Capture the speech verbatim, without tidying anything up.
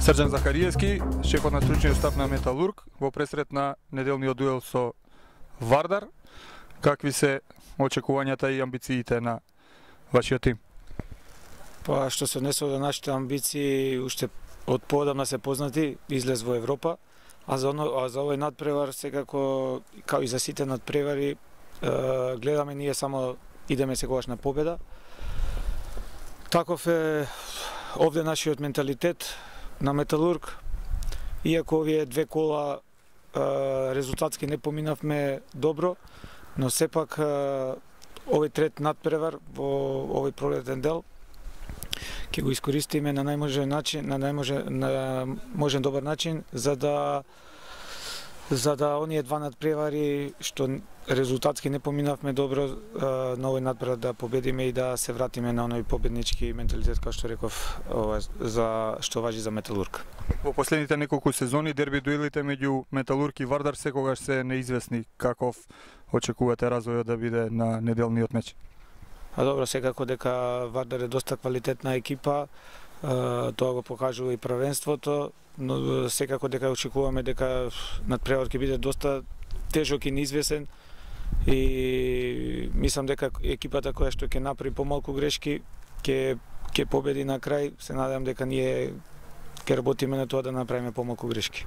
Срđan Захариевски, шефот на стручниот штаб на Металург, во пресрет на неделниот дуел со Вардар. Какви се очекувањата и амбициите на вашиот тим? Па што се однесува до нашите амбиции, уште од поодамна се познати, излез во Европа, а за, оно, а за овој надпревар секако, као и за сите надпревари, е, гледаме ние само идеме секогаш на победа. Таков е овде нашиот менталитет на Металург, иако овие две кола е, резултатски не поминавме добро, но сепак е, овој трет надпревар во овој пролетен дел ќе го искористиме на најможен начин, на најможен на можен добар начин за да за да оние два надпревари што резултатски не поминавме добро на овој надпревар да победиме и да се вратиме на оној победнички менталитет кој што реков ова, за што важи за Металург. Во последните неколку сезони дерби дуелите меѓу Металург и Вардар секогаш се неизвестни. Каков очекувате развојот да биде на неделниот меч? А добро, секако дека Вардар е доста квалитетна екипа, тоа го покажува и правенството, но секако дека очекуваме дека надпревар ќе биде доста тежок и неизвестен и мислам дека екипата која што ќе направи помалку грешки ќе ќе победи на крај. Се надевам дека ние ќе работиме на тоа да направиме помалку грешки.